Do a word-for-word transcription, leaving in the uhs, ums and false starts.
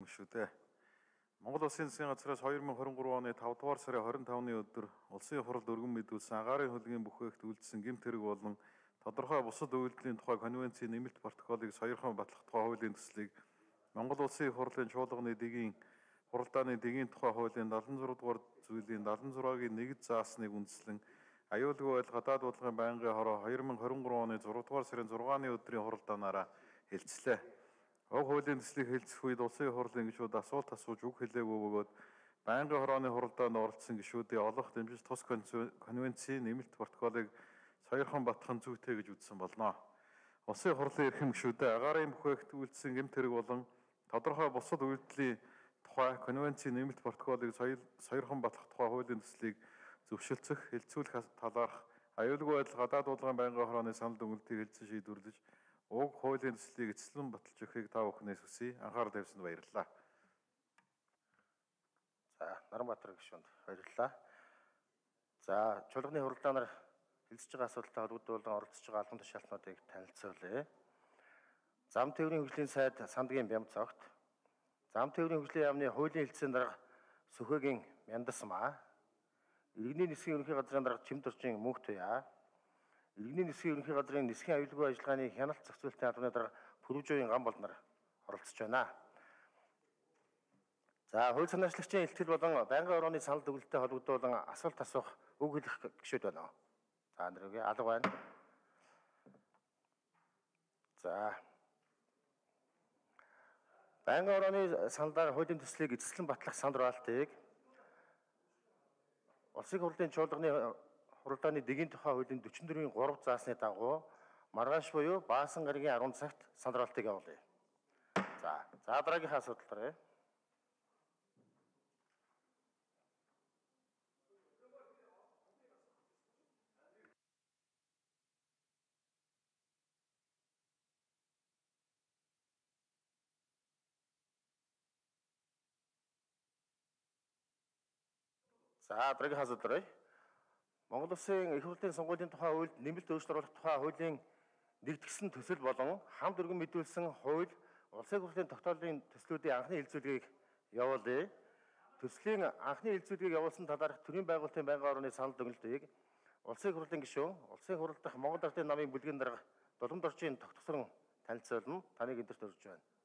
шүү дээ. Монгол Улсын засгийн газраас хоёр мың хорин гурван оны тавд дугаар сарын хорин тавны өдөр улсын хурлд өргөн мэдүүлсэн агаарын хөлгийн бүхээгт үйлдсэн гэмт хэрэг болон тодорхой бусад үйлдэлийн тухай конвенцийн нэмэлт протоколыг сойрхон батлах тухай хуулийн төслийг Монгол Улсын хурлын чуулганы дэгийн хуралдааны дэгийн тухай хуулийн дадлан зураг дугаар зүйлийн дадлан зураагийн нэгд заасныг үндэслэн аюулгүй байдал гадаад бодлогын байнгын хороо хоёр мың хорин гурван оны зураг дугаар сарын зургааны өдрийн хуралдаанаараа хэлцлээ. Уг хуулийн төслийг хэлцэх үед улсын хурлын гишүүд асуулт асууж үг хэлээгүй бөгөөд байнгын хорооны хуралдаанд оролцсон гишүүдийн олох дэмжиж тус конвенцийн нэмэлт протоколыг сойрхон батгах зүйтэй гэж үзсэн болно. Улсын хурлын эрхэм гишүүдэд агаарын бүхээгт үйлдсэн гэмт хэрэг болон тодорхой бусад үйлдэлийн тухай конвенцийн нэмэлт протоколыг сойрхон батлах тухай хуулийн төслийг зөвшөлдсөх, хэлцүүлэх талаарх аюулгүй байдал гадаад бодлогын байнгын хорооны санал дүгнэлтийг хэлцэн шийдвэрлэж уг хуулийн төслийг эцэслэн баталж өгөхийг та бүхнээс хүсье. Анхаарал тавьсанд баярлалаа. За, Наранбаатар гишүүнд баярлалаа. За, чуулганы хуралдаанаар хэлцэж байгаа асуудалтай холбогдуулан оролцож байгаа албан тушаалтнуудыг танилцуулъя. Зам тээврийн хөгжлийн сайд Сандгийн Бямцогт, зам тээврийн хөгжлийн яамны хуулийн хэлтсийн дарга Сүхэгийн Мяндасмаа, Иргэний нисхийн ерөнхий газрын дарга Чимдорчин Мөнх Туяа, Иргэний нисхийн ерөнхий газрын нисхийн аюулгүй ажиллагааны хяналт зохицуулалтын албаны дарга Пүрвжөөгийн Гамбол нар оролцож байна. За, хууль санаачлагчийн илтгэл болон байнгын хорооны санал дүгнэлттэй холбогдуулан асуулт асуух үг хэлэх гишүүд байна уу? За, нэргээ алга байна. За. Байнгын хорооны саналаар хуулийн төслийг эцэслэн батлах санал дураалтыг Улсын хурлын чуулганы хуралдааны дэгийн тухай хуулийн дөрвөн дөрвийн гурав заасны дагуу маргааш буюу Баасан гаригийн арван цагт санал дураалтыг явуулъя. За, за дараагийнхаа асуудал дараая. За, дараагийн асуудал дараая. Монгол Улсын их хурлын сонгуулийн тухай хуульд нэмэлт өөрчлөлт оруулах тухай хуулийн нэгдгсэн төсөл болон хамт өргөн мэдүүлсэн хууль Улсын хурлын тогтоолын төслүүдийн анхны хэлэлцүүлгийг явуулъя. Төслийн анхны хэлэлцүүлгийг явуулсан талаарх төрийн байгуулалтын байнгын хорооны санал дүгнэлтийг Улсын хурлын гишүүн, Улсын хурал дахь Монгол Ардын намын бүлгийн дарга Дулам Доржийн тогтворсон танилцуулна. Таныг эндэрт урьж байна.